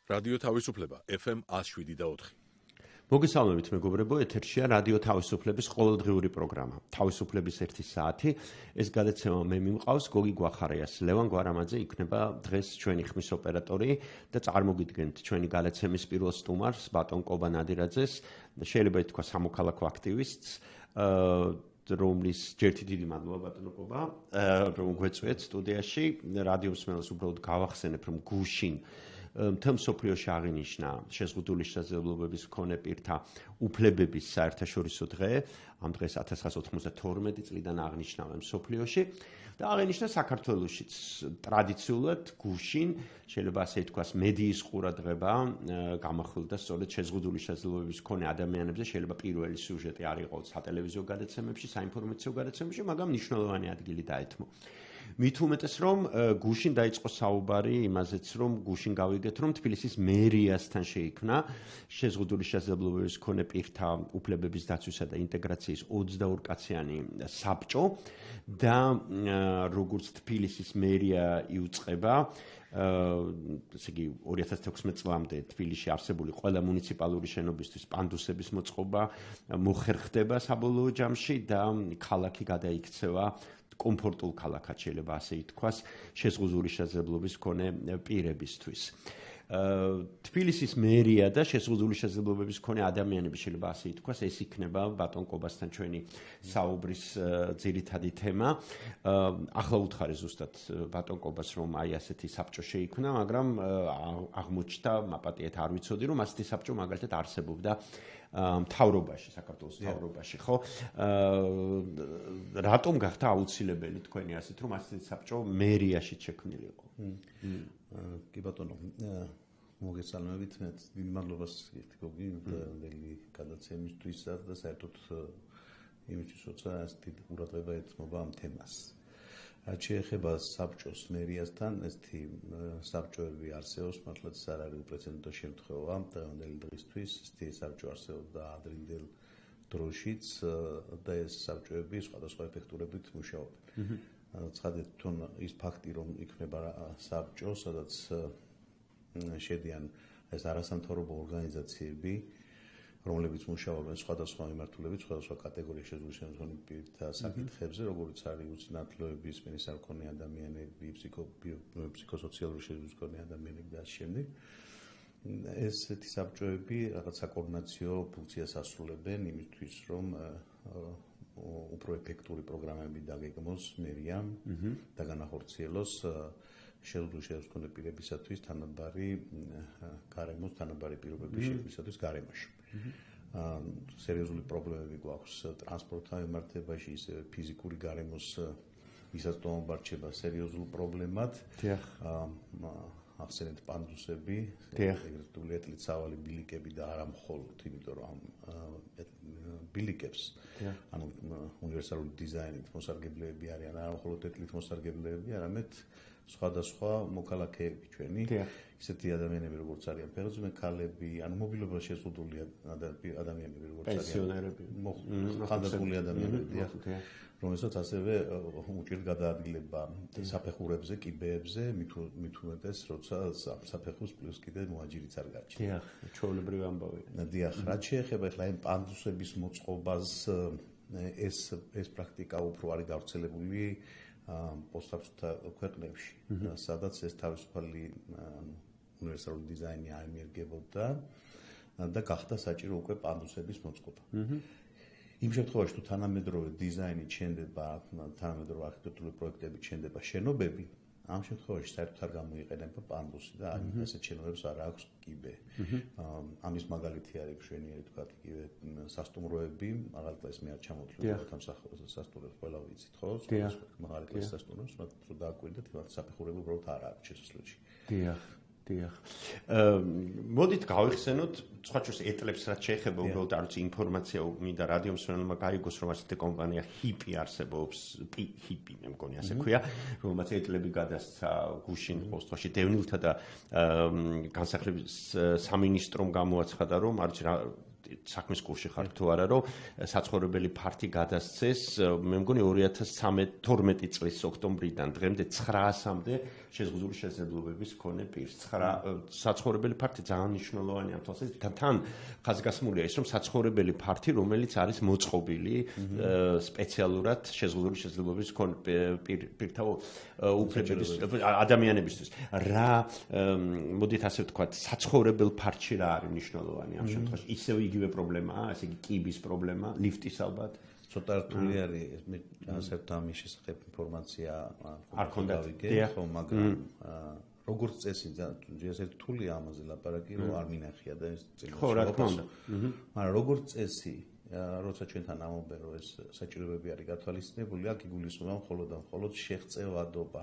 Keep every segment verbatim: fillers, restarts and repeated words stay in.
რადიო თავისუფლება ეფ ემ ათს შვიდი და ოთხი. მოგესალმებით მეგობრებო, ეთერშია რადიო თავისუფლების ყოველდღიური პროგრამა. თავისუფლების ერთი საათი. ეს გადაცემა მე მიმყავს გოგი გვახარიას. ლევან გვარამაძე იქნება დღეს ჩვენი ხმის ოპერატორი და წარმოგიდგენთ ჩვენი გადაცემის პირველ სტუმარს, ბატონ კობა ნადირაძეს, შეიძლება ითქვა სამოქალაქო აქტივისტს, რომლის ჯერთი დიდი მადლობა ბატონო კობა, რომ გვეწვიეთ სტუდიაში. რადიო მსმენელს უბრალოდ გავახსენებ, რომ გუშინ მთელ მსოფლიოში აღინიშნა შეზღუდული შესაძლებლობების მქონე პირთა უფლებების საერთაშორისო დღე. ამ დღეს ათას ცხრაასი ოცდათორმეტი წლიდან აღნიშნავენ მსოფლიოში და აღინიშნა საქართველოშიც ტრადიციულად გუშინ, შეიძლება ასე ითქვას, მედიის ყურადღება გამახვილდა სწორედ შეზღუდული შესაძლებლობების მქონე ადამიანებზე. შეიძლება პირველი სიუჟეტი არ იყოს სატელევიზიო გადაცემებში, საინფორმაციო გადაცემებში, მაგრამ მნიშვნელოვანი ადგილი დაეთმო. მით უმეტეს, რომ გუშინ დაიწყო საუბარი იმაზეც, რომ გუშინ გავიგეთ, რომ თბილისის მერიასთან შეიქმნა შეზღუდული შესაძლებლობების მქონე პირთა უფლებების დაცვისა და ინტეგრაციის ოცდაორი კაციანი საბჭო და როგორც თბილისის მერია იუწყება, ესე იგი ორი ათას თექვსმეტ წლამდე თბილისში არსებული ყველა მუნიციპალური შენობისთვის პანდუსების მოწყობა მოხერხდება საბოლოო ჯამში და ქალაქი გადაიქცევა კომფორტულ ქალაქად, შეიძლება ასე ითქვას, შეზღუდული შესაძლებლობის მქონე პირებისთვის. თბილისის მერია და შეზღუდული შესაძლებლობების მქონე ადამიანები, შეიძლება ასე ითქვას, ეს იქნება ბატონ კობასთან ჩვენი საუბრის ძირითადი თემა. ახლა უთხარი ზუსტად ბატონ კობას, რომ აი ასეთი საბჭო შეიქმნა, მაგრამ აღმოჩნდა, მაპატიეთ არ ვიცოდი, რომ ასეთი საბჭო მაგალითად არსებობდა მთავრობაში, საქართველოს მთავრობაში, ხო? რატომ გახდა აუცილებელი თქვენი ასეთ, რომ ასეთი საბჭო მერიაში შექმნილიყო? კი ბატონო, მოგესალმებით, მე დიდი მადლობას გიხდი გოგი, ნელი გადაცემისთვის და საერთოდ იმისთვის, როცა ასეთი ყურადღება ეთმობა ამ თემას. რაც შეეხება საბჭოს მერიასთან, ესეთი საბჭოები არსებობს, მართლაც არ არის უპრეცედენტო შემთხვევა დღევანდელი დღისთვის. ესეთი საბჭო არსებობდა ადრინდელ დროშიც და ეს საბჭოები სხვადასხვა ეფექტურობით მუშაობენ. ცხადეთ თვითონ ის ფაქტი, რომ იქნება საბჭო, სადაც შედიან ეს არასამთავრობო ორგანიზაციები, რომლებიც მუშაობენ სხვადასხვა მიმართულებით, სხვადასხვა კატეგორიის შეზღუდული პირთა საკითხებზე, როგორც არის უცნაძლოების, სპენის არ მქონე ადამიანები, ფსიქოსოციალური შეზღუდული ადამიანები და ამ შემდეგ. ესეთი საბჭოები რაღაც საკოორდინაციო ფუნქციას ასრულებენ იმისთვის, რომ უფრო ეფექტური პროგრამები დაგეგმოს მერიამ და განახორციელოს შეზღუდული შეზღუდული პირებისათვის თანაბარი გარემოს, თანაბარი პირობების შექმნისათვის გარემოში. სერიოზული პრობლემები გვაქვს ტრანსპორტთან მიმართებაში, ისე ფიზიკური გარემოს მისაწვდომობა რჩება სერიოზულ პრობლემად. ახსენეთ პანდუსები, ეგრეთ წოდებული სავალი ბილიკები და არა მხოლოდ, იმიტომ რომ ამ ბილიკებს, ანუ უნივერსალური დიზაინით მოსარგებლეები არიან, არა მხოლოდ ეთლით მოსარგებლეები, არამედ სხვადასხვა მოქალაქეები ჩვენი, ისეთი ადამიანები, როგორც არიან ფეხბურთელი ქალები, ანუ მობილობა შეზღუდული ადამიანები, როგორც არიან პენსიონერები, ხანდაზმული ადამიანები, რომელსაც ასევე უჭირთ გადაადგილება საფეხურებზე, კიბეებზე, მით უმეტეს, როცა საფეხურს პლუს კიდე მოაჯირიც არ გაჩნდა. დიახ, ჩვეულებრივი ამბავია. დიახ, რაც შეეხება ახლა ამ პანდუსების მოწყობას, ეს ეს პრაქტიკა უფრო არის გავრცელებული პოსტსაბჭოთა ქვეყნებში, სადაც ეს თავისუფალი უნივერსალური დიზაინი აიმიერგებოდა და გახდა საჭირო უკვე პანდუსების მოწყობა. იმ შემთხვევაში, თუ თანამედროვე დიზაინი ჩენდება, თანამედროვე არქიტექტურული პროექტები ჩენდება შენობები, ამ შემთხვევაში საერთოდ არ გამოიყენება პანდუსი და ასეთ შენობებს არ აქვს კიბე. ამის მაგალითი არის მშვენიერი თქვა იგივე სას�ტუმროები, მაგალითად ეს მე არ ჩამოთვლი ამ სასტუმროებს ყველა ვიცით, ხო? მაგალითად სასტუმროებს, მაგრამ თუ დააკვირდეთ, მათ საფეხურები უბრალოდ არ აქვს შესასვლელში. დიახ. დიახ. მოდით გავიხსენოთ, სხვა შორის ეტლებს რაც შეეხება უბრალოდ არ ვიცი ინფორმაცია მინდა რადიო მსმენელმა გაიგოს, რომ ასეთი კომპანია ჰიპი არსებობს, ჰიპი მე მგონი ასე ქვია, რომელმაც ეტლები გადასცა გუშინ პოსტში დევნილთა და განსახლების სამინისტრომ გამოაცხადა, რომ არ ვიცი რა საქმის კურსში ხარ თუ არა, რომ საცხოვრებელი ფართი გადასცეს, მე მგონი ორი ათას თორმეტი წლის ოქტომბრიდან დღემდე ცხრაასამდე შეზღუდული შესაძლებლობების მქონე პირს. ცხრა საცხოვრებელი ფართი ძალიან მნიშვნელოვანია ამ თვალსაზრისით. თან ხაზგასმულია ის, რომ საცხოვრებელი ფართი, რომელიც არის მოწყობილი სპეციალურად შეზღუდული შესაძლებლობების მქონე პირთა უფლებების ადამიანებისთვის. რა მოდით ასე ვთქვათ, საცხოვრებელ ფართში რა არის მნიშვნელოვანი ამ შემთხვევაში? ისევ იგივე პრობლემაა, ასე იგი კიბის პრობლემა, ლიფტის ალბათ. ცოტა რთული არის, მე განსაკუთრებით ამის შესახებ ინფორმაცია არ ქონდა, ხო, მაგრამ როგორც წესი, ეს რთულია ამაზე ლაპარაკი, რომ არ მინახია და ეს წინასწარ. ხო, რა თქმა უნდა. მაგრამ როგორც წესი, როცა ჩვენთან ამობენ, რომ ეს საჭიროებები არის გათვალისწინებული, აქ იგულისხმება მხოლოდ და მხოლოდ შეღწევადობა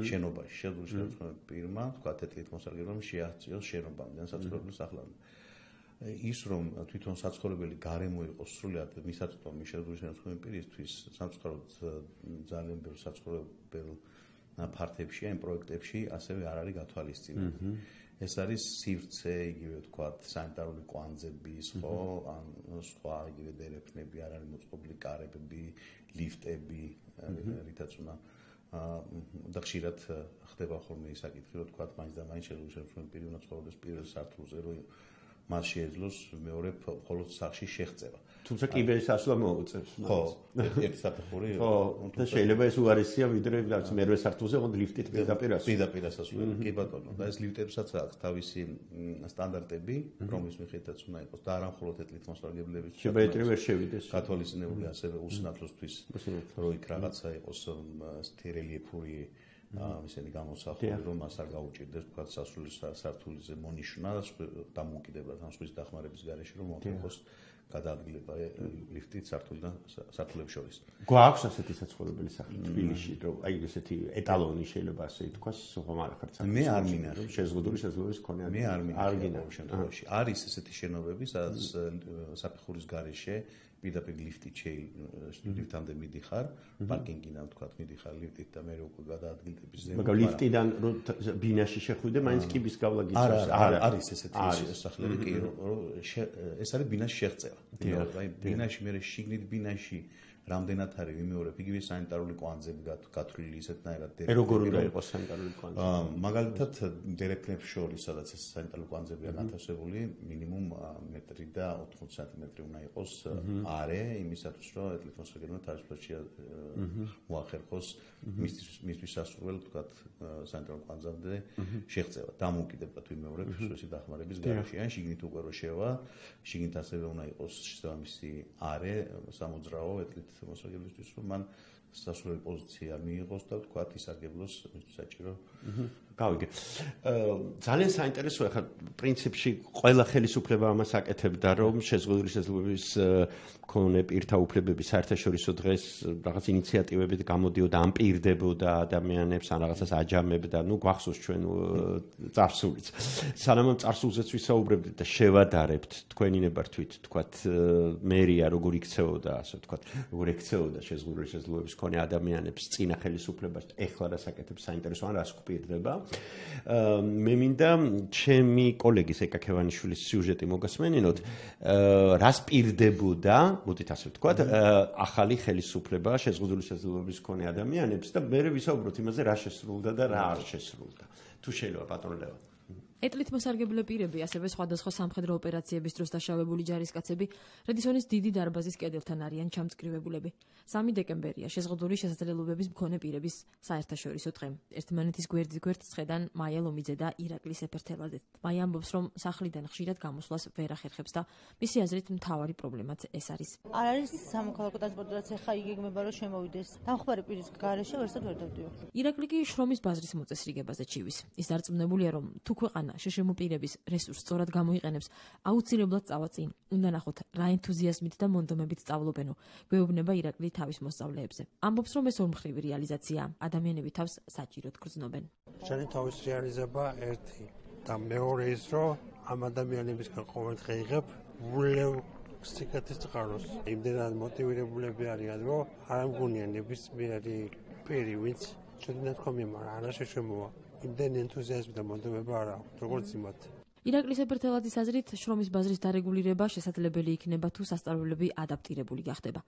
შენობაში, შეზღუდული შესაძლებლობების პირმა, თქვა ეთლით მოსარგებლობამ შეაღწიოს შენობამდე, საცხოვრებელ სახლამდე. ის რომ თვითონ საცხოვრებელი გარემო იყოს სრულად მისაწვდომი შეზღუდული შესაძლებლობების პირისთვის, სამწუხაროდ ძალიან ბევრ საცხოვრებელ ფართებში, ამ პროექტებში ასევე არ არის გათვალისწინებული. ეს არის სივრცე, იგივე ვთქვათ, სანიტარული კვანძების, ხო, ან სხვა იგივე დერეფნები, არ არის მოწყობილი კარები, ლიფტები, რითაც უნდა და ხშირად ხდება ხოლმე ის საკითხი, რომ ვთქვათ, მაინც და მაინც შეზღუდული შესაძლებლობების პირი უნდა ცხოვრდეს პირველ სართულზე, რომ მას შეეძლოს მეორე მხოლოდ სახლში შეღწევა. თუმცა კიბერის ასვლა მოუწევს. ხო, ერთი საფეხური. ხო, და შეიძლება ეს უარესია ვიდრე რაც მერვე სართულზე მოდ ლიფტით პირდაპირ ასვლა. პირდაპირ ასვლა. კი ბატონო, და ეს ლიფტებსაც აქვს თავისი სტანდარტები, რომლის მიხედვითაც უნდა იყოს და არა მხოლოდ ეთლით მოსარგებლების. შებაიტრი ვერ შევიდეს. გათვალისწინებული ასევე უსინათლოსთვის, რომ იქ რაღაცა იყოს სტერელიეფური ისეთი გამოსახული, რომ მას არ გაუჭირდეს თქვა სასული სართულიზე მონიშნა დამოუკიდებლად ამ სხვის დახმარების გარეშე, რომ მოხდეს გადაადგილება ლიფტით სართულიდან სართულებს შორის. გვაქვს ასეთი საცხოვრებელი სახლი თბილისში, რომ აი ესეთი ეტალონი შეიძლება ასე ითქვას, ხომ არ ხართ საქმე. მე არ მინახე შეზღუდული შესაძლებლობის მქონე მე არ მინახე ამ შემთხვევაში. არის ესეთი შენობები, სადაც საფეხურის გარეშე პირდაპირ ლიფტით ლიფტამდე მიდიხარ, პარკინგიდან თქვა მიდიხარ ლიფტით და მე უკვე გადაადგილდების ზემო. მაგრამ ლიფტიდან ბინაში შეხვიდე, მაინც კიბის გავლა გიწევს. არა, არის ესეთი სახლები კი, რომ ეს არის ბინაში შეღწევა. აი ბინაში მე შიგნით ბინაში რამდენად არის ვიმეორებ, იგივე სანიტარული კვანძები გათვლილი ისეთნაირად დერეფნები. როგორ უნდა იყოს სანიტარული კვანძები? მაგალითად დერეფნებს შორის, სადაც ეს სანიტარული კვანძებია განთავსებული, მინიმუმ მეტრი და ოთხმოცი სანტიმეტრი უნდა იყოს არე, იმისათვის რომ ეთლით მოსარგებლობამ თავისუფლად მოახერხოს მისთვის სასურველ, თქვათ, სანიტარულ კვანძამდე შეღწევა. დამოუკიდებლად ვიმეორებ სუსი დახმარების გარეშე, ან შიგნით უკვე რო შევა, შიგნით ასევე უნდა იყოს შესაბამისი არე, სამოძრაო ეთლით მოსარგებლობისთვის, რომ მან სასურველი პოზიცია მიიღოს და თქვათ ისარგებლოს მისთვის საჭირო. გავიგე. ძალიან საინტერესოა ხა პრინციპში ყველა ხელისუფლება ამას აკეთებდა, რომ შეზღუდული შესაძლებლობის მქონე პირთა უფლებები საერთაშორისო დღეს რაღაც ინიციატივებით გამოდიოდა, ამპირდებოდა ადამიანებს, ან რაღაცას აჯამებდა, ну გვახსოვს ჩვენ წარსულიც. სანამ ამ წარსულზეც ვისაუბრებდით და შევადარებთ თქვენინებართვით, თქვათ, მერია როგორ იქცეოდა, ასე ვთქვათ, როგორ ექცეოდა შეზღუდული შესაძლებლობის მქონე ადამიანებს წინა ხელისუფლებას, ეხლა რას აკეთებს საინტერესოა, რას გვპირდება. მე მინდა ჩემი კოლეგის ეკა ქევანიშვილის სიუჟეტი მოგასმენინოთ, რას პირდებოდა, მოდით ასე ვთქვათ, ახალი ხელისუფლება შეზღუდული შესაძლებლობის მქონე ადამიანებს და მე ვისაუბროთ იმაზე, რა შესრულდა და რა არ შესრულდა. თუ შეიძლება ბატონ ლევან. ეთლით მოსარგებლე პირები, ასევე სხვადასხვა სამხედრო ოპერაციების დროს დაშავებული ჯარისკაცები რედისონის დიდი დარბაზის კედელთან არიან ჩამწკრივებულები. სამი დეკემბერია შეზღუდული შესაძლებლობების მქონე პირების საერთაშორისო დღე. ერთმანეთის გვერდით გვერდ ცხედან მაია ლომიძე და ირაკლი სეფერთელაძე. მაია ამბობს, რომ სახლიდან ხშირად გამოსვლას ვერ ახერხებს და მისი აზრით მთავარი პრობლემაც ეს არის. არ არის სამოქალაქო ტრანსპორტი, რაც ეხა იგეგმება, რომ შემოვიდეს. დამხმარე პირის გარეშე ვერსად ვერ დავდიო. ირაკლი კი შრომის ბაზრის მოწესრიგებაზე ჩივის. ის დარწმუნებულია, რომ თუ ქვეყანა შეშემო პირების რესურსს სწორად გამოიყენებს, აუცილებლად წავა წინ. უნდა ნახოთ, რა ენთუზიაზმით და მონდომებით სწავლობენო. გვეუბნება ირაკლი თავის მოსწავლეებზე. ამბობს, რომ ეს ორმხრივი რეალიზაცია ადამიანები თავს საჭიროდ გრძნობენ. შენი თავის რეალიზება ერთი და მეორე ის, რომ ამ ადამიანებისგან ყოველდღე იღებ ულევ სიკეთის წყაროს. იმდენად მოტივირებულები არიან, რომ არ მგონია ნებისმიერი პირი, ვინც შედინა თქვა მიმარ, არა შეშემოვა. იმდენ ენთუზიაზმი და მონდომება არ აქვს, როგორც იმათ. ირაკლის ეფერთელაძის აზრით, შრომის ბაზრის დარეგულირება შესაძლებელი იქნება თუ სასწავლებლები ადაპტირებული გახდება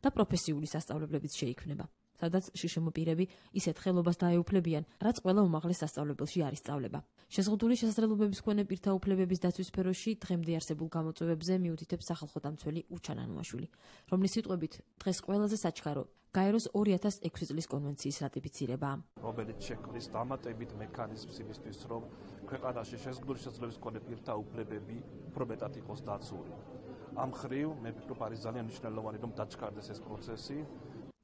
და პროფესიული სასწავლებლებიც შეიქმნება, სადაც შშმ პირები ისეთ ხელობას დაეუფლებიან, რაც ყველა უმაღლეს სასწავლებელში არ ისწავლება. შეზღუდული შესაძლებლობების მქონე პირთა უფლებების დაცვის სფეროში დღემდე არსებულ გამოწვევებზე მიუთითებს სახალხო დამცველი უჩან ანუაშვილი, რომლის სიტყვებით დღეს ყველაზე საჩქარო გაეროს ორი ათას ექვსი წლის კონვენციის რატიფიცირებაა. რომელიც შექმნის დამატებით მექანიზმს იმისთვის, რომ ქვეყანაში შეზღუდული შესაძლებლობის მქონე პირთა უფლებები უფრო მეტად იყოს დაცული. ამ მხრივ მე ვფიქრობ, არის ძალიან მნიშვნელოვანი, რომ დაჩქარდეს ეს პროცესი.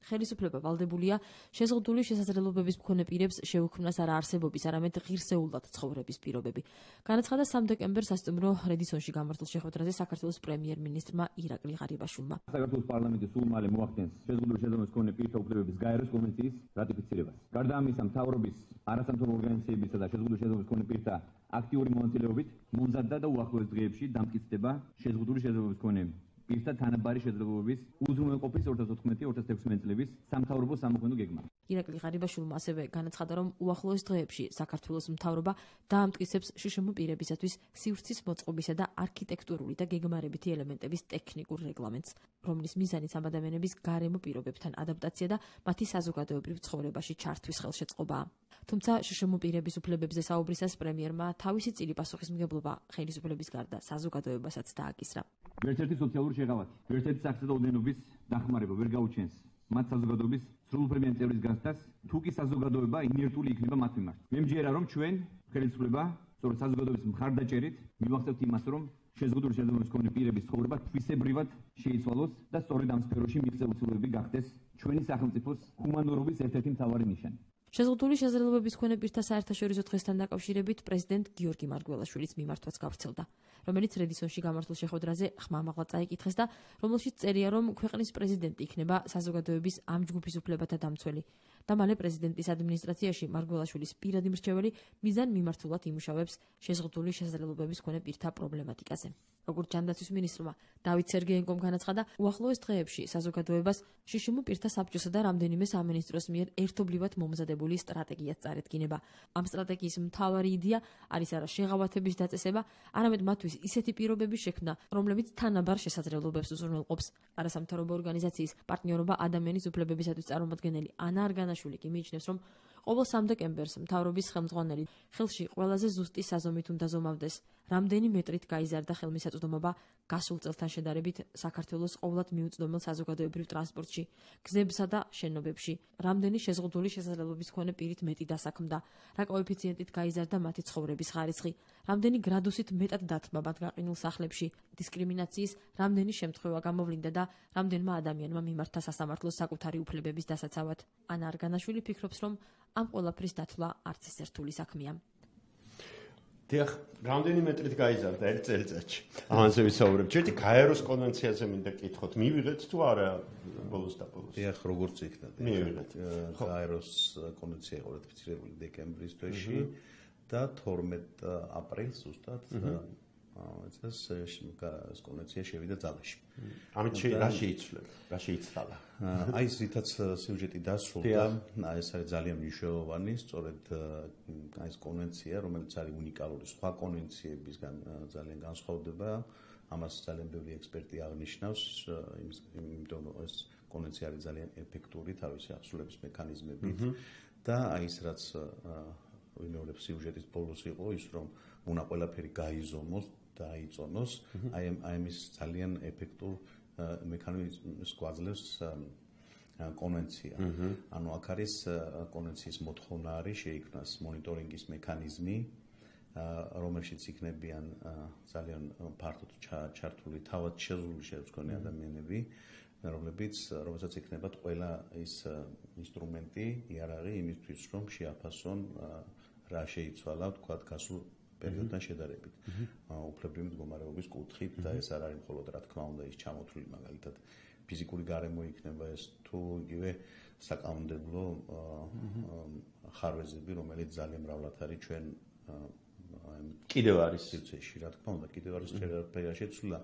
ხელისუფლება ვალდებულია შეზღუდული შესაძლებლობების მქონე პირებს შეუქმნას არა არსებობის, არამედ ღირსეულად ცხოვრების პირობები. განაცხადა სამ დეკემბერს სასტუმრო რედისონში გამართულ შეხვედრაზე საქართველოს პრემიერ-მინისტრმა ირაკლი ღარიბაშვილმა. საქართველოს პარლამენტი სულ მალე მოახდენს შეზღუდული შესაძლებლობების მქონე პირთა უფლებების გაეროს კონვენციის რატიფიცირებას. გარდა ამისა, მთავრობის არასამთავრობო ორგანიზაციებისა და შეზღუდული შესაძლებლობების მქონე პირთა აქტიური მონაწილეობით მომზადდა და უახლოეს დღეებში დამტკიცდება შეზღუდული შესაძლებლობების მქონე პირთა თანაბარი შესაძლებლობების უზრუნველყოფის ორი ათას ოთხმეტი ორი ათას თექვსმეტი წლების სამთავრობო სამოქმედო გეგმა. ირაკლი ღარიბაშვილმა ასევე განაცხადა, რომ უახლოეს დღეებში საქართველოს მთავრობა დაამტკიცებს შშმ პირებისათვის სივრცის მოწყობისა და არქიტექტურული და გეგმარებითი ელემენტების ტექნიკურ რეგლამენტს, რომლის მიზანიც ამ ადამიანების გარემო პირობებთან ადაპტაცია და მათი საზოგადოებრივ ცხოვრებაში ჩართვის ხელშეწყობაა. თუმცა შშმ პირების უფლებებზე საუბრისას პრემიერმა თავისი წილი პასუხისმგებლობა ხელისუფლების გარდა საზოგადოებასაც დააკისრა. ვერცერთი სოციალური შეღავათი, ვერცერთი სახისა და ოდენობის დახმარება ვერ გაუჩენს მათ საზოგადოების სრულუფლებიანი წევრის გახდას, თუ კი საზოგადოება ინერტული იქნება მათ მიმართ. მე მჯერა, რომ ჩვენ ხელისუფლება სწორედ საზოგადოების მხარდაჭერით მივახცევთ იმას, რომ შეზღუდული შესაძლებლობის მქონე პირების ცხოვრება თვისებრივად შეიცვალოს და სწორედ ამ სფეროში მიღწეული გახდეს ჩვენი სახელმწიფოს ჰუმანურობის ერთ-ერთი მთავარი ნიშანი. შეზღუდული შესაძლებლობების მქონე პირთა საერთაშორისო დღესთან დაკავშირებით პრეზიდენტ გიორგი მარგველაშვილის მიმართვაც გავრცელდა, რომელიც რედისონში გამართულ შეხვედრაზე ხმამაღლა წაიკითხეს და რომელშიც წერია, რომ ქვეყნის პრეზიდენტი იქნება საზოგადოების ამ ჯგუფის უფლებათა დამცველი და მალე პრეზიდენტის ადმინისტრაციაში მარგველაშვილის პირადი მრჩეველი მიზან მიმართულად იმუშავებს შეზღუდული შესაძლებლობების მქონე პირთა პრობლემატიკაზე. როგორც ჯანდაცვის მინისტრმა დავით სერგეენკომ განაცხადა, უახლოეს დღეებში საზოგადოებას შშმ პირთა საბჭოსა და რამდენიმე სამინისტროს მიერ ერთობლივად მომზადებული სტრატეგიაც წარედგინება. ამ სტრატეგიის მთავარი იდეა არის არა შეღავათების დაწესება, არამედ მათთვის ისეთი პირობების შექმნა, რომლებიც თანაბარ შესაძლებლობებს უზრუნველყოფს. არასამთავრობო ორგანიზაციის პარტნიორობა ადამიანის უფლებებისათვის წარმომადგენელი ანა არგანაშვილი კი მიიჩნევს, რომ ყოველ სამ დეკემბერს მთავრობის ხელმძღვანელი ხელში ყველაზე ზუსტი საზომით უნდა ზომავდეს, რამდენი მეტრით გაიზარდა ხელმისაწვდომობა გასულ წელთან შედარებით საქართველოს ყოვლად მიუწვდომელ საზოგადოებრივ ტრანსპორტში, გზებსა და შენობებში, რამდენი შეზღუდული შესაძლებლობის მქონე პირით მეტი დასაქმდა, რა კოეფიციენტით გაიზარდა მათი ცხოვრების ხარისხი, რამდენი გრადუსით მეტად დათმა მათ გაყინულ სახლებში, დისკრიმინაციის რამდენი შემთხვევა გამოვლინდა და რამდენმა ადამიანმა მიმართა სასამართლოს საკუთარი უფლებების დასაცავად. ანა არგანაშვილი ფიქრობს, რომ ამ ყველაფრის დათვლა არც ეს ერთული საქმეა. დიახ, რამდენი მეტრით გაიზარდა ერთ წელიწადში? ამაზე ვისაუბრებ. ჯერჯერობით გაეროს კონვენციაზე მინდა კითხოთ, მივიღეთ თუ არა ბოლოს და ბოლოს? დიახ, როგორც იქნა. მივიღეთ. გაეროს კონვენცია იყო რატიფიცირებული დეკემბრის თვეში და თორმეტ აპრილს ზუსტად ეს ეს კონვენცია შევიდა ძალაში. ამით რა შეიცვლება? რა შეიცვალა? აი ზითაც სიუჟეტი დასრულდა, ეს არის ძალიან მნიშვნელოვანი, სწორედ აი ეს კონვენცია, რომელიც არის უნიკალური სხვა კონვენციებისგან ძალიან განსხვავდება, ამას ძალიან ბევრი ექსპერტი აღნიშნავს, იმიტომ რომ ეს კონვენცია არის ძალიან ეფექტური თავისი აღსრულების მექანიზმებით და აი ეს რაც ვიმეორებ სიუჟეტის ბოლოს იყო ის, რომ უნდა ყველაფერი გაიზომოს დაიწონოს, აი ამის ძალიან ეფექტურ მექანიზმს გვაძლევს კონვენცია. ანუ აქ არის კონვენციის მოთხოვნა არის შეიქმნას მონიტორინგის მექანიზმი, რომელშიც იქნებიან ძალიან ფართოდ ჩართული თავად შეზღუდული შესაძლებლობის მქონე ადამიანები, რომლებიც რომელსაც იქნებათ ყველა ის ინსტრუმენტი, იარაღი იმისთვის, რომ შეაფასონ რა შეიცვალა, თქვათ, გასულ პერიოდთან შედარებით. უფლებრივი მდგომარეობის კუთხით და ეს არ არის მხოლოდ რა თქმა უნდა ის ჩამოთვლილი მაგალითად ფიზიკური გარემო იქნება ეს თუ იგივე საკანონმდებლო ხარვეზები, რომელიც ძალიან მრავლად არის ჩვენ კიდევ არის სივრცეში, რა თქმა უნდა, კიდევ არის შეიძლება შეცვლა.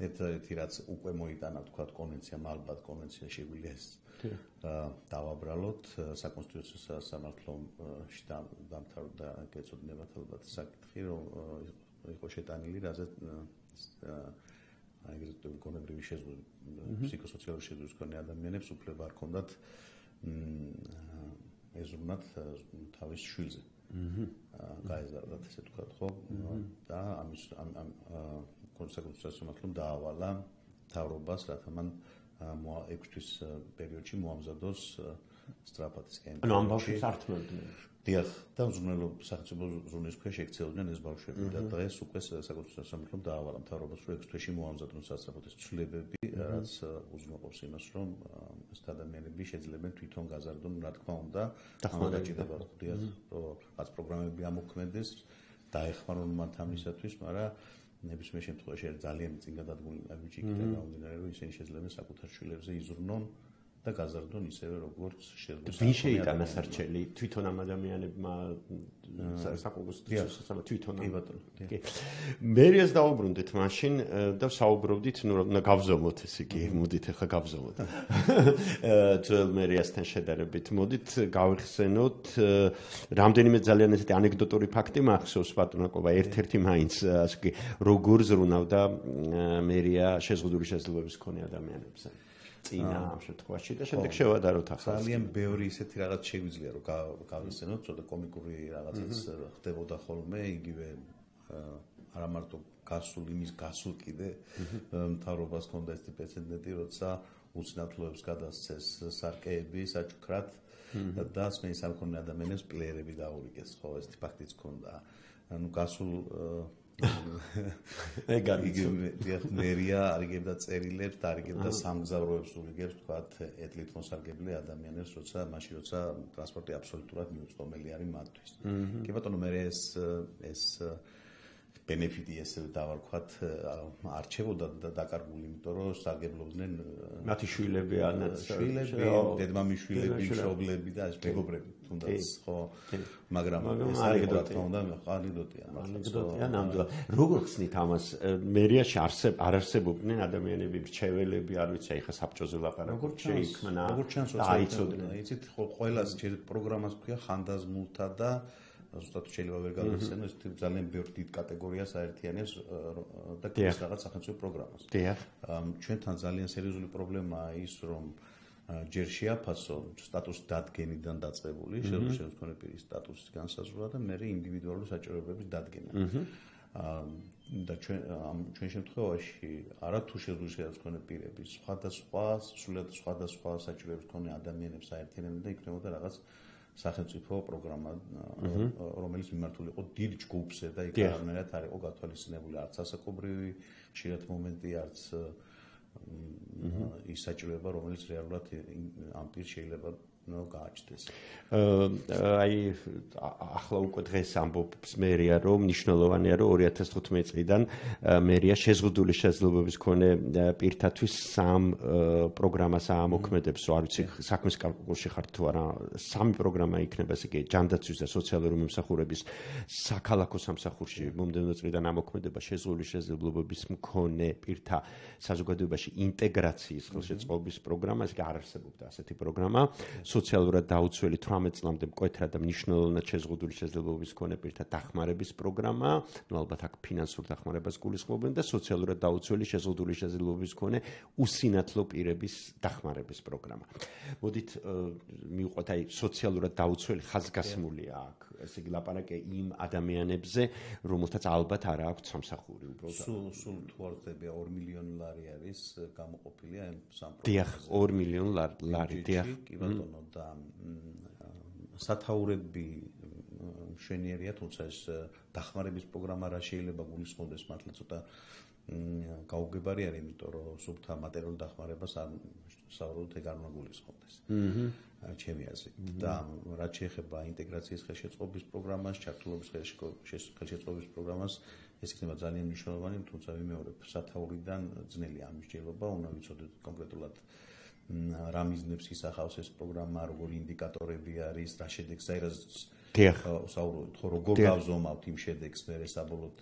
ერთ-ერთი რაც უკვე მოიტანა თქვა კონვენციამ, ალბათ კონვენცია შეგვიძლია ეს დავაბრალოთ საკონსტიტუციო სამართლოში დამთავრდა გეცოდინებათ ალბათ საკითხი, რომ იყო შეტანილი, რაზეც აი ეგრეთ გონებრივი შეზღუდვა, ფსიქოსოციალური შეზღუდვის მქონე ადამიანებს უფლება არ ჰქონდათ ეზრუნათ თავის შვილზე. გაეზარდათ ესე ვთქვათ, ხო? და ამის ამ კონსტიტუციას მომხდომ დაავალა მთავრობას, რათა მან ექვს თვის პერიოდში მოამზადოს სწრაფად ის კენჭი. ანუ ამ ბავშვებს არ თმევდნენ. დიახ, და უზრუნველო სახელმწიფო ზრუნვის ქვეშ ექცეოდნენ ეს ბავშვები და დღეს უკვე საკონსტიტუციო სამართლომ დაავალა მთავრობას, რომ ექვს თვეში მოამზადონ სასწრაფოდ ეს ცვლილებები, რაც უზრუნველყოფს იმას, რომ ეს ადამიანები შეძლებენ თვითონ გაზარდონ, რა თქმა უნდა, დამოკიდება ხდია, რომ რაც პროგრამები ამოქმედეს, დაეხმარონ მათ ამისათვის, მაგრამ ნებისმიერ შემთხვევაში ძალიან წინ გადადგმული აგვიჭიქდა გამომდინარე, რომ ისინი შეძლებენ საკუთარ შვილებზე იზრუნონ და გაზარდონ ისევე როგორც შეძლოს. ვინ შეიტანა სარჩელი თვითონ ამ ადამიანებმა საკონსტიტუციო თვითონ კი ბატონო. კი. მერიას დაუბრუნდით მაშინ და საუბრობდით, ნუ რა გავზომოთ ეს იგი, მოდით ახლა გავზომოთ. ძველ მერიასთან შედარებით მოდით გავიხსენოთ რამდენიმე ძალიან ესეთი ანეკდოტური ფაქტი მახსოვს ბატონაკობა, ერთ-ერთი მაინც ასე იგი როგორ ზრუნავდა მერია შეზღუდული შესაძლებლობის მქონე ადამიანებზე. წინა ამ შემთხვევაში და შემდეგ შევადაროთ ახლა. ძალიან ბევრი ისეთი რაღაც შეგვიძლია რომ გავიხსენოთ, ცოტა კომიკური რაღაცაც ხდებოდა ხოლმე, იგივე არა მარტო გასულ იმის გასულ კიდე მთავრობას ჰქონდა ეს პრეცედენტი, როცა უცნაურებს გადასცეს სარკეები საჩუქრად და სმენის არ მქონე ადამიანებს პლეერები დაურიგეს, ხო, ეს ფაქტიც ჰქონდა. ანუ გასულ ეგარ იგივე მერია არიგებდა წერილებს და არიგებდა სამგზავროებს ურიგებს თქვათ ეთლით მოსარგებლე ადამიანებს, როცა მაშინ როცა ტრანსპორტი აბსოლუტურად მიუწვდომელი არის მათთვის. კი ბატონო, მე ეს ეს ბენეფიტი ესე დავარქვათ არჩევოდა და დაკარგული, იმიტომ რომ სარგებლობდნენ მათი შვილები ან შვილები, დედმამიშვილები, მშობლები და ეს მეგობრები თუნდაც, ხო, მაგრამ ეს ანეკდოტია, უნდა ანეკდოტია, ანეკდოტია ნამდვილად. როგორ ხსნით ამას? მერიაში არსებ არ არსებობდნენ ადამიანები, რჩეველები, არ ვიცი, ეხა საბჭოზე ლაპარაკობ, შეიქმნა და აიცოდნენ. იცით, ხო, ყველას პროგრამას ქვია ხანდაზმულთა და ზუსტად შეიძლება ვერ გავიხსენო, ეს ძალიან ბევრ დიდ კატეგორიას აერთიანებს და ქმნის რაღაც სახელმწიფო პროგრამას. ჩვენთან ძალიან სერიოზული პრობლემაა ის, რომ ჯერ შეაფასო სტატუსის დადგენიდან დაწყებული, შეძლოს მქონე პირის სტატუსის განსაზღვრა და მეორე ინდივიდუალური საჭიროებების დადგენა. და ჩვენ ჩვენ შემთხვევაში არა თუ შეძლოს მქონე პირების სხვადასხვა, სულად სხვადასხვა საჭიროებების მქონე ადამიანებს აერთიანებდა და იქნებოდა რაღაც სახელმწიფო პროგრამა, რომელიც მიმართული იყო დიდ ჯგუფზე და იქ არანაირად არ იყო გათვალისწინებული არც ასაკობრივი ხშირად მომენტი, არც ის საჭიროება, რომელიც რეალურად ამ პირს შეიძლება გააჩნდეს. აი ახლა უკვე დღეს ამბობს მერია, რომ მნიშვნელოვანია, რომ ორი ათას თხუთმეტი წლიდან მერია შეზღუდული შესაძლებლობის მქონე პირთათვის სამ პროგრამას ამოქმედებს, არ ვიცი საქმის კალკულში ხართ თუ არა, სამი პროგრამა იქნება, ესე იგი ჯანდაცვის და სოციალური მომსახურების საქალაქო სამსახურში მომდევნო წლიდან ამოქმედება შეზღუდული შესაძლებლობების მქონე პირთა საზოგადოებაში ინტეგრაციის ხელშეწყობის პროგრამა, ესე იგი არ არსებობდა ასეთი პროგრამა. სოციალურად დაუცველი თვრამეტ წლამდე მკვეთრად და მნიშვნელოვნად შეზღუდული შესაძლებლობის მქონე პირთა დახმარების პროგრამა, ნუ ალბათ აქ ფინანსურ დახმარებას გულისხმობენ და სოციალურად დაუცველი შეზღუდული შესაძლებლობის მქონე უსინათლო პირების დახმარების პროგრამა. მოდით მივყვეთ აი სოციალურად დაუცველი ხაზგასმულია აქ, ესე იგი ლაპარაკია იმ ადამიანებზე, რომელთაც ალბათ არ აქვს სამსახური უბრალოდ. სულ სულ თუ არ ვწდები ორი მილიონი ლარი არის გამოყოფილი ამ სამ პროგრამაზე. დიახ, ორი მილიონი ლარი, დიახ. კი ბატონო, და სათაურები მშვენიერია, თუმცა ეს დახმარების პროგრამა რა შეიძლება გულისხმობდეს მართლა ცოტა გაუგებარი არის, იმიტომ რომ სულთა მატერიალურ დახმარებას არ საუბრობთ ეგ არ უნდა გულისხმობდეს. ჩემი აზრით. და რაც შეეხება ინტეგრაციის ხელშეწყობის პროგრამას, ჩართულობის ხელშეწყობის პროგრამას, ეს იქნება ძალიან მნიშვნელოვანი, თუმცა ვიმეორებ, სათაურიდან ძნელია ამის ჯერობა, უნდა ვიცოდეთ კონკრეტულად რა მიზნებს ისახავს ეს პროგრამა, როგორი ინდიკატორები არის, რა შედეგს საუბრობთ, ხო როგორ გავზომავთ იმ შედეგს, მე საბოლოოდ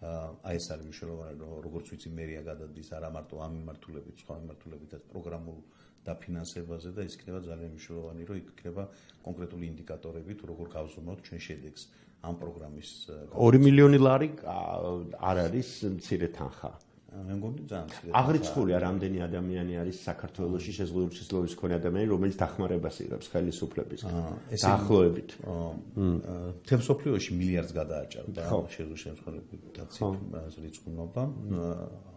აი ეს არის მნიშვნელოვანი, როგორც ვიცი მერია გადადის არა მარტო ამ მიმართულებით, სხვა მიმართულებითაც პროგრამულ დაფინანსებაზე და ის იქნება ძალიან მნიშვნელოვანი, რომ იქნება კონკრეტული ინდიკატორები თუ როგორ გავზრუნოთ ჩვენ შედეგს ამ პროგრამის ორი მილიონი ლარი არ არის მცირე თანხა. მე მგონი ძალიან მცირე. აღრიცხულია რამდენი ადამიანი არის საქართველოში შეზღუდული შესაძლებლობის მქონე ადამიანი, რომელიც დახმარებას იღებს ხელისუფლებისგან. დაახლოებით. მთელ მსოფლიოში მილიარდს გადააჭარბა შეზღუდული შესაძლებლობითაც რიცხვნობა.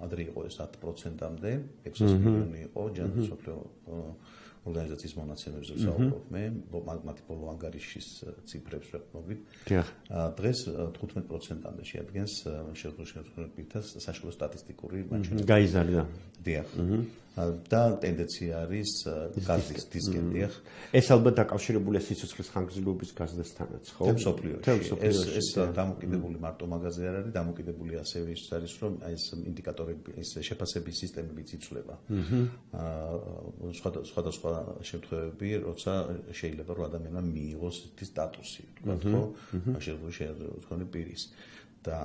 ადრე იყო ეს ათი პროცენტამდე, ექვსასი მილიონი იყო ჯანდ მსოფლიო ორგანიზაციის მონაცემებზე ვსაუბრობ მე, მათი ბოლო ანგარიშის ციფრებს ვეყნობით. დღეს თხუთმეტ პროცენტამდე შეადგენს შეზღუდული შესაძლებლობითაც საშუალო სტატისტიკური მაჩვენებელი. გაიზარდა. დიახ. და ტენდენცია არის გაზის დისკენ დიახ. ეს ალბათ დაკავშირებულია სიცოცხლის ხანგრძლივობის გაზრდასთანაც, ხო? მსოფლიოში. ეს ეს დამოკიდებული მარტო მაგაზე არ არის, დამოკიდებული ასევე ის არის, რომ ეს ინდიკატორები, ეს შეფასების სისტემებიც იცვლება. აა სხვადასხვა შემთხვევები, როცა შეიძლება რომ ადამიანმა მიიღოს ეს სტატუსი, თქვა ხო? შეიძლება შეიძლება პირის და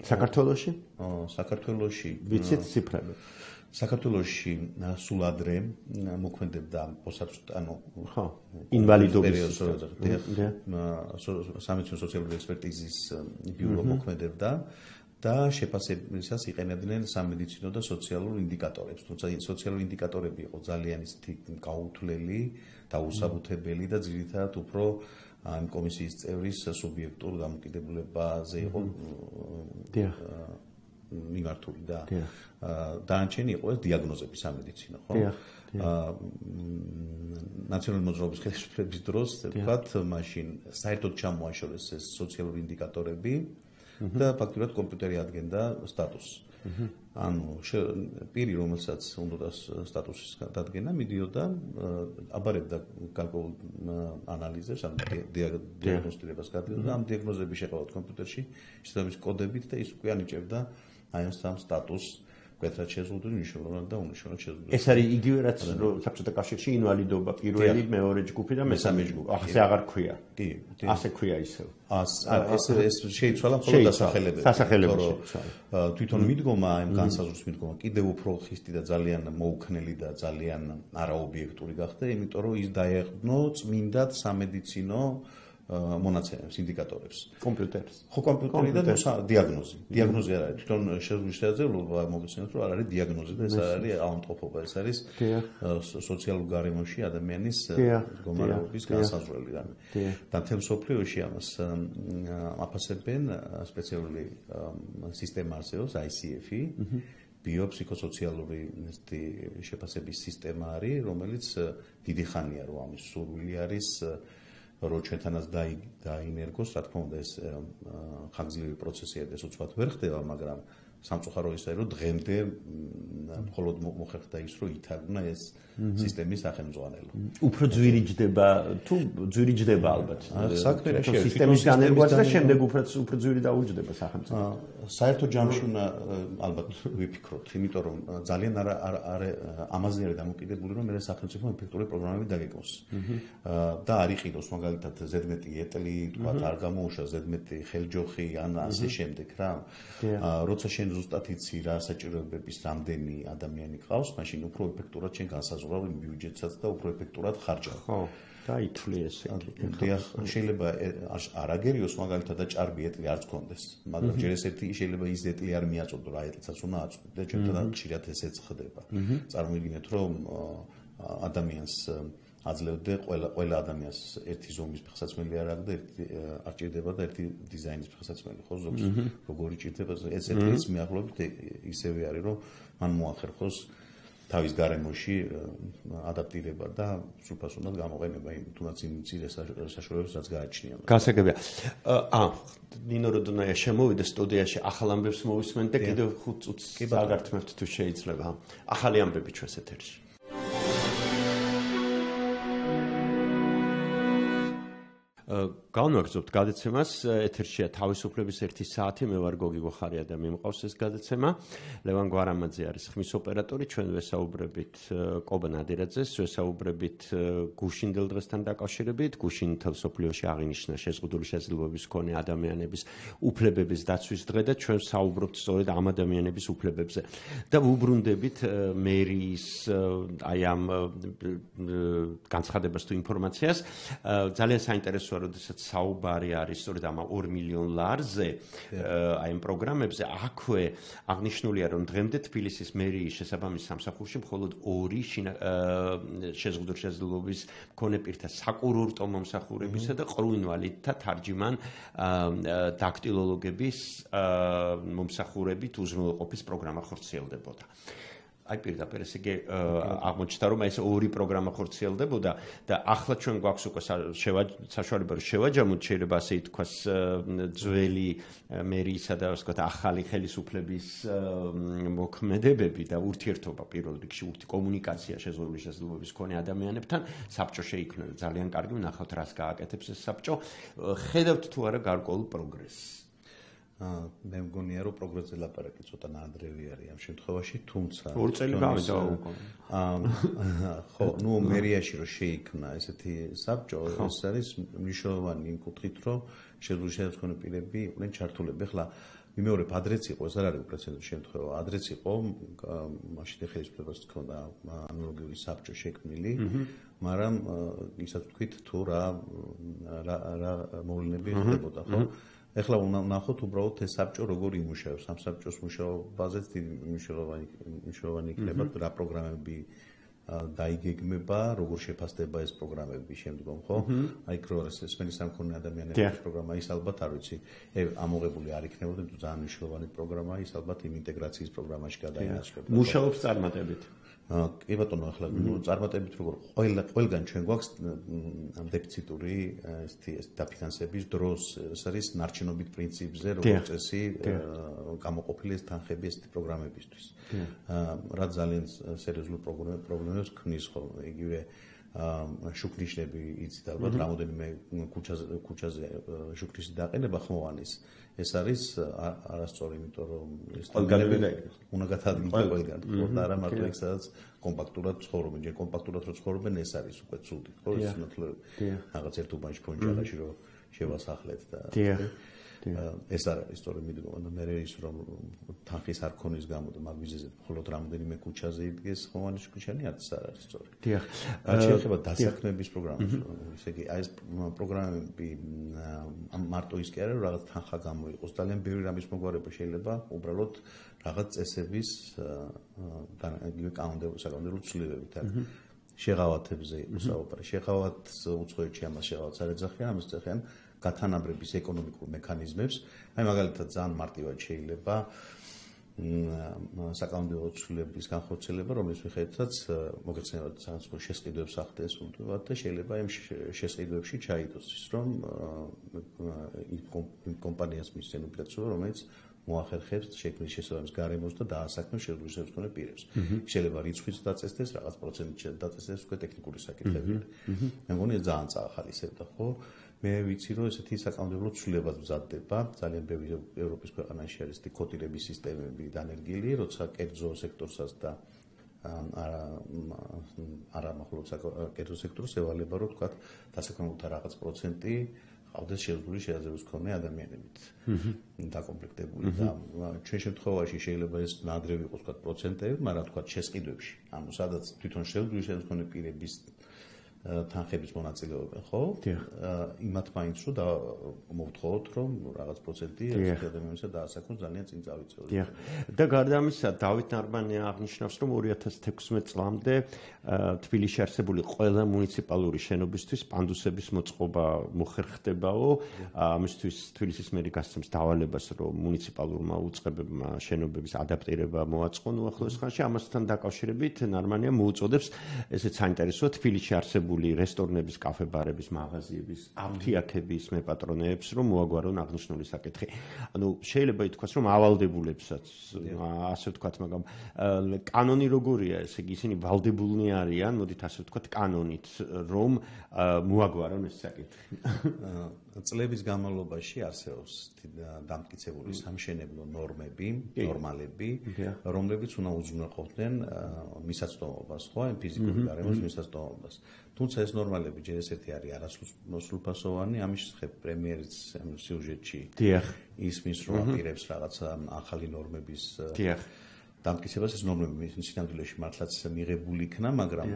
საქართველოში? საქართველოში ვიცით ციფრები? საქართველოში სულ ადრე მოქმედებდა პოსტსაბჭოთა ანუ ხო ინვალიდობის სამედიცინო სოციალური ექსპერტიზის ბიურო მოქმედებდა და შეფასებისას იყენებდნენ სამედიცინო და სოციალურ ინდიკატორებს. თუმცა სოციალური ინდიკატორები იყო ძალიან ისეთი გაუთვლელი და უსაბუთებელი და ძირითადად უფრო ამ კომისიის წევრის სუბიექტურ დამოკიდებულებაზე იყო მიმართული და დანარჩენი იყო ეს დიაგნოზები სამედიცინო, ხო? ნაციონალური მოძრაობის ხელისუფლების დროს, ვთქვათ, მაშინ საერთოდ ჩამოაშორეს ეს სოციალური ინდიკატორები და ფაქტურად კომპიუტერი ადგენდა სტატუსს. ანუ პირი, რომელსაც უნდა სტატუსის დადგენა, მიდიოდა, აბარებდა გარკვეულ ანალიზებს, ამ დიაგნოსტირებას გადაიღდა და ამ დიაგნოზები შეყავდა კომპიუტერში, შესაბამის კოდებით და ის უკვე ანიჭებდა აი ამ სამ სტატუსს. Petra შეზღუდული მნიშვნელოვნად და უნიშნელად შეზღუდული. ეს არის იგივე რაც საბჭოთა კავშირში ინვალიდობა პირველი, მეორე ჯგუფი და მესამე ჯგუფი. ასე აღარ ქვია. კი, ასე ქვია ისევ. ეს ეს შეიცვალა მხოლოდ დასახელებები. დასახელებებში. თვითონ მიდგომა, ამ განსაზღვრვის მიდგომა კიდევ უფრო ხისტი და ძალიან მოუქნელი და ძალიან არაობიექტური გახდა, იმიტომ რომ ის დაეღბნო წმინდად სამედიცინო მონაცემებს, ინდიკატორებს. კომპიუტერს. ხო, კომპიუტერი და დიაგნოზი. დიაგნოზი არ არის. თვითონ შეზღუდული შესაძლებლობა მოგესწრებით, რომ არ არის დიაგნოზი და ეს არ არის ავადმყოფობა, ეს არის სოციალურ გარემოში ადამიანის მდგომარეობის განსაზღვრელი რამე. და მთელ მსოფლიოში ამას აფასებენ სპეციალური სისტემა არსებობს I C F I, ბიოფსიქოსოციალური შეფასების სისტემა არის, რომელიც დიდი ხანია რომ ამის სურვილი არის რო ჩვენთანაც დაინერგოს, რა თქმა უნდა ეს ხანგრძლივი პროცესია და ეს უცბად ვერ ხდება, მაგრამ სამწუხარო ისაა, რომ დღემდე მხოლოდ მოხერხდა ის, რომ ითარგმნა ეს სისტემის სახელმძღვანელო. უფრო ძვირი ჯდება, თუ ძვირი ჯდება ალბათ. საქმე რა შეიძლება სისტემის განერგვაც და შემდეგ უფრო უფრო ძვირი დაუჯდება სახელმწიფო. საერთო ჯამში უნდა ალბათ ვიფიქროთ, იმიტომ რომ ძალიან არა არა ამაზე არის დამოკიდებული, რომ მე სახელმწიფო ეფექტური პროგრამები დაგეკოს. და არ იყიდოს მაგალითად ზედმეტი ეტლი, თქვა არ გამოუშვა ზედმეტი ხელჯოხი ან ასე შემდეგ რა. როცა შენ ზუსტად იცი რა საჭიროებების რამდენი ადამიანი ყავს, მაშინ უფრო ეფექტურად შენ განსაზღვრავ იმ ბიუჯეტსაც და უფრო ეფექტურად ხარჯავ. ხო, დაითვლი ესე. დიახ, შეიძლება არაგერიოს მაგალითად და ჭარბი ეტლი არც გქონდეს, მაგრამ ჯერ ეს ერთი შეიძლება ის ეტლი არ მიაწოდო რა ეტლსაც უნდა აწოდო და ჩვენთან ხშირად ესეც ხდება. წარმოვიდგინეთ, რომ ადამიანს აძლევდე ყველა ყველა ადამიანს ერთი ზომის ფეხსაცმელი არ აქვს და ერთი არ ჭირდება და ერთი დიზაინის ფეხსაცმელი ხო ზოგს როგორი ჭირდება ეს ერთის მიახლოებით ისევე არის რომ მან მოახერხოს თავის გარემოში ადაპტირება და სრულფასოვნად გამოყენება იმ თუნდაც იმ მცირე საშუალებებს რაც გააჩნია. გასაგებია. აა ნინო როდონაია შემოვიდა სტუდიაში ახალ ამბებს მოვისმენთ და კიდევ ხუთ წუთს აგართმევთ თუ შეიძლება. ახალი ამბები ჩვენს ეთერში. Განვაგრძობთ გადაცემას, ეთერშია თავისუფლების ერთი საათი, მე ვარ გოგი გოხარია და მე მყავს ეს გადაცემა. ლევან გვარამაძე არის ხმის ოპერატორი, ჩვენ ვესაუბრებით კობა ნადირაძეს, ვესაუბრებით გუშინ დღესთან დაკავშირებით, გუშინ მთელ მსოფლიოში აღინიშნა შეზღუდული შესაძლებლობების მქონე ადამიანების უფლებების დაცვის დღე და ჩვენ საუბრობთ სწორედ ამ ადამიანების უფლებებზე. და ვუბრუნდებით მერიის აი ამ განცხადებას თუ ინფორმაციას, ძალიან საინტერესოა, როდესაც საუბარი არის სწორედ ამ ორ მილიონ ლარზე, აი ამ პროგრამებზე, აქვე აღნიშნულია, რომ დღემდე თბილისის მერიის შესაბამის სამსახურში მხოლოდ ორი შეზღუდული შესაძლებლობის მქონე პირთა საკურორტო მომსახურებისა და ყრუინვალიდთა თარჯიმან დაქტილოლოგების მომსახურებით უზრუნველყოფის პროგრამა ხორციელდებოდა. აი პირდაპირ ესე იგი აღმოჩნდა რომ ეს ორი პროგრამა ხორციელდებოდა და ახლა ჩვენ გვაქვს უკვე საშუალება რომ შევაჯამოთ შეიძლება ასე ითქვას ძველი მერიისა და ასე ვთქვათ ახალი ხელისუფლების მოქმედებები და ურთიერთობა პირველ რიგში ურთი კომუნიკაცია შეზღუდული შესაძლებლობის მქონე ადამიანებთან საბჭო შეიქმნა ძალიან კარგი ვნახავთ რას გააკეთებს ეს საბჭო ხედავთ თუ არა გარკვეულ პროგრესს მე მგონია რომ პროგრესზე ლაპარაკი ცოტა ნაადრევი არის ამ შემთხვევაში თუმცა ორი წელი გავიდა უკვე ხო ნუ მერიაში რომ შეიქმნა ესეთი საბჭო ეს არის მნიშვნელოვანი იმ კუთხით რომ შეზღუდული შესაძლებლობის პირები იყვნენ ჩართულები ახლა მიმეორებ ადრეც იყო ეს არ არის უპრეცედენტო შემთხვევა ადრეც იყო მაშინ ხელისუფლებას თქონდა ანალოგიური საბჭო შექმნილი მაგრამ ისაც თქვით თუ რა რა მოვლენები ხდებოდა ხო ეხლა ვნახოთ უბრალოდ ეს საბჭო როგორ იმუშავებს ამ საბჭოს მუშაობაზეც დიდი მნიშვნელოვანი მნიშვნელოვანი იქნება რა პროგრამები დაიგეგმება როგორ შეფასდება ეს პროგრამები შემდგომ ხო აი კროეს სპენის სამქონე ადამიანების პროგრამა ის ალბათ არ ვიცი ამოღებული არ იქნებოდა თუ ძალიან მნიშვნელოვანი პროგრამა ის ალბათ იმ ინტეგრაციის პროგრამაში გადაინაცვლებოდა მუშაობს წარმატებით კი ბატონო ახლა წარმატებით როგორ ყველა ყველგან ჩვენ გვაქვს დეფიციტური ესეთი ეს დაფინანსების დროს ეს არის ნარჩენობით პრინციპზე როგორც წესი გამოყოფილი ეს თანხები ესეთი პროგრამებისთვის რა ძალიან სერიოზული პრობლემებს ქმნის ხოლმე იგივე შუქნიშნები იცით ალბათ რამოდენიმე ქუჩაზე ქუჩაზე შუქნიშნის დაყენება ხმოვანის ეს არის არასწორი იმიტომ რომ ეს ყველგანები უნდა გათადგილდეს ყველგან ხო და არა მარტო იქ სადაც კომპაქტურად ცხოვრობენ ჯერ კომპაქტურად რო ცხოვრობენ ეს არის უკვე ცუდი ხო ეს მართლაც რაღაც ერთ უბანში ფონჯარაში რო შევასახლეთ და ეს არის სწორედ მიდგომა და მე ის რომ თანხის არ ქონის გამო და მაგ ვიზეზე მხოლოდ რამოდენიმე ქუჩაზე იდგეს ხმოვანის ქუჩანი არც არ არის სწორი. დიახ. რაც შეეხება დასაქმების პროგრამას, ესე იგი აი ეს პროგრამები მარტო ის კი არა რომ რაღაც თანხა გამოიყოს, ძალიან ბევრი რამის მოგვარება შეიძლება უბრალოდ რაღაც წესების და იგივე კანონმდებლობის ცვლილებებით არის. შეღავათებზე უსაუბარი. შეღავათს უცხოეთში ამას შეღავათს არ ეძახიან, ამას ეძახიან გათანაბრების ეკონომიკურ მექანიზმებს. აი მაგალითად ძალიან მარტივად შეიძლება საკანონმდებლო ცვლილების განხორციელება, რომლის მიხედვითაც მოგეცემათ საწყო შესყიდვებს ახდენს უდავად და შეიძლება იმ შესყიდვებში ჩაიდოს ის, რომ იმ კომპანიას მისცენ უპირატესობა, რომელიც მოახერხებს შექმნის შესაბამის გარემოს და დაასაქმებს შეზღუდული შესაძლებლობის მქონე პირებს. შეიძლება რიცხვიც დაწესდეს, რაღაც პროცენტით დაწესდეს უკვე ტექნიკური საკითხები. მე მგონია ძალიან წაახალისებდა, ხო? მე ვიცი რომ ესეთი საკანონმდებლო ცვლილებაც მზადდება, ძალიან ბევრი ევროპის ქვეყანაში არის ესეთი კოტირების სისტემები დანერგილი, როცა კერძო სექტორსაც და არა არა მხოლოდ კერძო სექტორს ევალება რომ თქვა დასაქმებულთა რაღაც პროცენტი ყავდეს შეზღუდული შესაძლებლობის მქონე ადამიანებით დაკომპლექტებული და ჩვენ შემთხვევაში შეიძლება ეს ნადრევი იყოს თქვა პროცენტები, მაგრამ თქვა შესყიდვებში, ანუ სადაც თვითონ შეზღუდული შესაძლებლობის მქონე პირების თანხების მონაწილეობენ, ხო? იმათ მაინც რომ და მოვთხოვოთ, რომ რაღაც პროცენტი ადამიანისა დაასაქმოს ძალიან წინ წავიწევს. და გარდა ამისა, დავით ნარბანია აღნიშნავს, რომ ორი ათას თექვსმეტ წლამდე თბილისში არსებული ყველა მუნიციპალური შენობისთვის პანდუსების მოწყობა მოხერხდებაო. ამისთვის თბილისის მერი გასცემს დავალებას, რომ მუნიციპალურმა უწყებებმა შენობების ადაპტირება მოაწყონ უახლოეს ხანში. ამასთან დაკავშირებით ნარბანია მოუწოდებს ესეც საინტერესოა თბილისში არსებული მიღებული რესტორნების, კაფე-ბარების, მაღაზიების, აფთიაქების მეპატრონეებს, რომ მოაგვარონ აღნიშნული საკითხი. ანუ შეიძლება ითქვას, რომ ავალდებულებსაც ასე ვთქვათ, მაგრამ კანონი როგორია, ესე იგი ისინი ვალდებულნი არიან, მოდით ასე ვთქვათ, კანონით, რომ მოაგვარონ ეს საკითხი. წლების განმავლობაში არსებობს დამტკიცებული სამშენებლო ნორმები, ნორმალები, რომლებიც უნდა უზრუნველყოფდნენ მისაწვდომობას, ხო, იმ ფიზიკური გარემოს მისაწვდომობას. თუმცა ეს ნორმალები ჯერ ესეთი არის არასრულფასოვანი, ამის შესახებ პრემიერის სიუჟეტში ისმის, რომ აპირებს რაღაცა ახალი ნორმების დამტკიცებას, ეს ნორმები სინამდვილეში მართლაც მიღებული იქნა, მაგრამ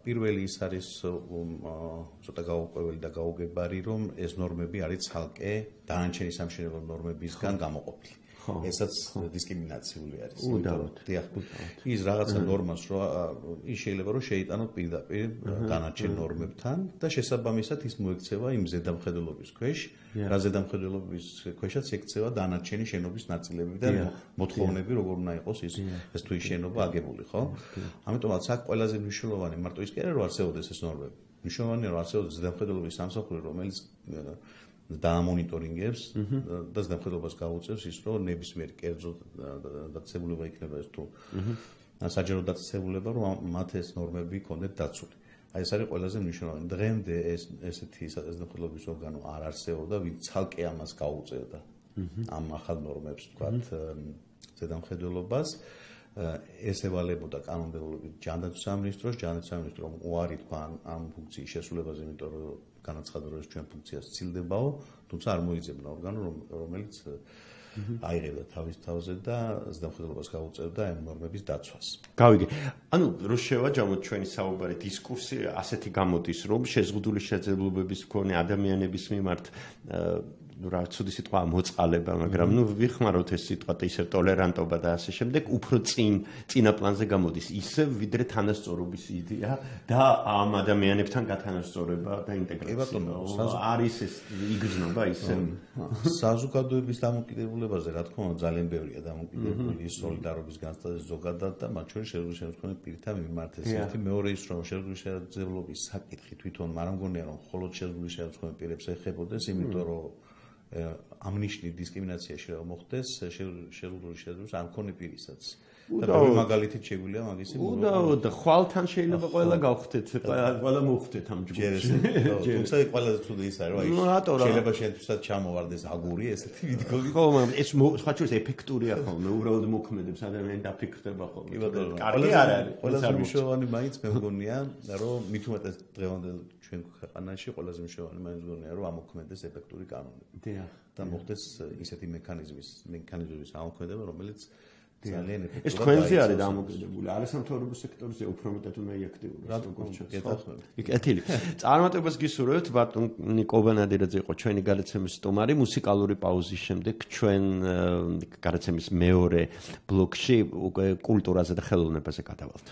პირველი ის არის ცოტა გაურკვეველი და გაუგებარი, რომ ეს ნორმები არის ცალკე დანარჩენი სამშენებლო ნორმებისგან გამოყოფილი. ესაც დისკრიმინაციული არის. დიახ. ის რაღაცა ნორმას რო ის შეიძლება რომ შეიტანოს პირდაპირ დანარჩენ ნორმებთან და შესაბამისად ის მოექცევა იმ ზედამხედველობის ქვეშ, რა ზედამხედველობის ქვეშაც ექცევა დანარჩენი შენობის ნაწილები და მოთხოვნები როგორ უნდა იყოს ის ეს თუ ის შენობა აგებული, ხო? ამიტომაც აქ ყველაზე მნიშვნელოვანი მარტო ის კი არა რომ არსებობდეს ეს ნორმები. მნიშვნელოვანია რომ არსებობდეს ზედამხედველობის სამსახური, რომელიც დაამონიტორინგებს და ზედამხედველობას გაუწევს ის, რომ ნებისმიერ კერძო დაწესებულება იქნება ეს თუ საჯარო დაწესებულება, რომ მათ ეს ნორმები კონდეთ დაცული. აი ეს არის ყველაზე მნიშვნელოვანი. დღემდე ეს ესეთი ზედამხედველობის ორგანო არ არსებობდა, ვინც ცალკე ამას გაუწევდა. ამ ახალ ნორმებს, ვთქვათ, ზედამხედველობას ეს ევალებოდა კანონმდებლობით ჯანდაცვის სამინისტროს, ჯანდაცვის სამინისტრო უარი თქვა ამ ფუნქციის შესრულებაზე, იმიტომ რომ განაცხადა რომ ეს ჩვენ ფუნქციას ცილდებაო, თუმცა არ მოიძებნა ორგანო, რომელიც აიღებდა თავის თავზე და ზედამხედველობას გაუწევდა ამ ნორმების დაცვას. გავიგე. ანუ რო შევაჯამოთ ჩვენი საუბარი დისკურსი ასეთი გამოდის, რომ შეზღუდული შეძლებლობების მქონე ადამიანების მიმართ ну რა ცუდი სიტყვა მოწყალება, მაგრამ ну ვიხმაროთ ეს სიტყვა ისე ტოლერანტობა და ასე შემდეგ, უფრო წინ წინა პლანზე გამოდის, ისე ვიდრე თანასწორობის იდეა და ამ ადამიანებთან გათანასწორება და ინტეგრაცია. არის ეს იგრძნობა ისე საზოგადოების დამოკიდებულებაზე, რა თქმა უნდა, ძალიან ბევრია დამოკიდებული სოლიდარობის განცდაზე ზოგადად და მათ შორის შეზღუდული შეძლებლობის პირთა მიმართ. ერთი მეორე ის რომ შეზღუდული შეძლებლობის საკითხი თვითონ არ მგონია რომ მხოლოდ შეზღუდული შეძლებლობის პირებს ეხებოდეს, იმიტომ რომ ამ ნიშნით დისკრიმინაციაში რა მოხდეს შეზღუდული შეძლებლობის არ მქონე პირისაც. და მაგალითით შეგვიძლია მაგისი უდაოდ ხვალთან შეიძლება ყველა გავხდეთ, ყველა მოხდეთ ამ ჯგუფში. თუმცა ყველაზე ცუდი ის არის, რომ შეიძლება შეთვისაც ჩამოვარდეს აგური ესეთი ვიდგოდი. ხო, მაგრამ ეს სხვა შორის ეფექტურია ხოლმე, უბრალოდ მოქმედებს ადამიანი დაფიქრდება ხოლმე. კი ბატონო, კარგი არ არის. ყველაზე მნიშვნელოვანი მაინც მე მგონია, რომ მით უმეტეს დღევანდელ ჩვენ ქვეყანაში ყველაზე მნიშვნელოვანი მაინც მგონია, რომ ამოქმედდეს ეფექტური კანონები. დიახ. და მოხდეს ისეთი მექანიზმის, მექანიზმის ამოქმედება, რომელიც ეს თქვენზე არის დამოკიდებული, არასამთავრობო სექტორზე უფრო მეტად უნდა იაქტიურდეს, როგორც ჩაცხადეთ. იქეთილი. წარმატებას გისურვებთ, ბატონი კობანადირაძე იყო ჩვენი გადაცემის სტუმარი, მუსიკალური პაუზის შემდეგ ჩვენ გადაცემის მეორე ბლოკში უკვე კულტურაზე და ხელოვნებაზე გადავალთ.